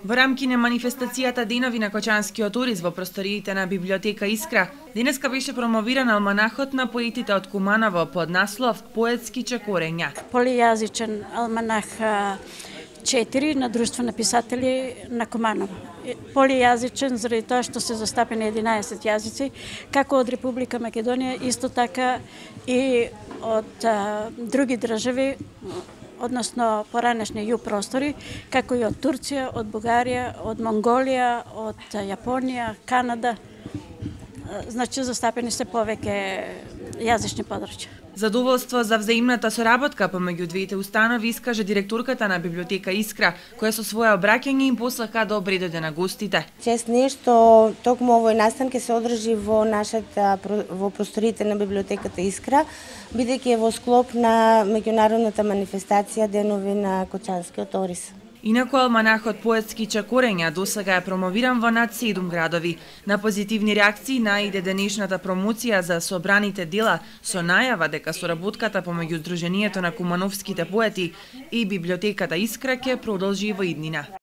Во рамки на манифестацијата Денови на Кочанскиот уриз во просториите на библиотека Искра, денеска беше промовиран алманахот на поетите од Куманово под наслов Поетски чекорења. Полијазичен алманах 4 на Друштво на писатели на Куманово. Полијазичен заради тоа што се застапени 11 јазици, како од Република Македонија, исто така и од други држави, односно поранешни југ простори, како и од Турција, од Бугарија, од Монголија, од Јапонија, Канада. Значи, застапени се повеќе јазични подручја. Задоволство за взаимната соработка помеѓу двете установи искаже директорката на библиотека Искра, која со свое обраќање им послака добри дојде на гостите. Чест е што токму овој настан ќе се одржи во во просториите на библиотеката Искра, бидејќи е во склоп на меѓународната манифестација Денови на Кочанскиот ориз. Инаку алманахот Поетски чекорења досега е промовиран во над 7 градови. На позитивни реакции наиде денешната промоција за собраните дела со најава дека соработката помеѓу Сдруженијето на кумановските поети и библиотеката Искра ќе продолжи во иднина.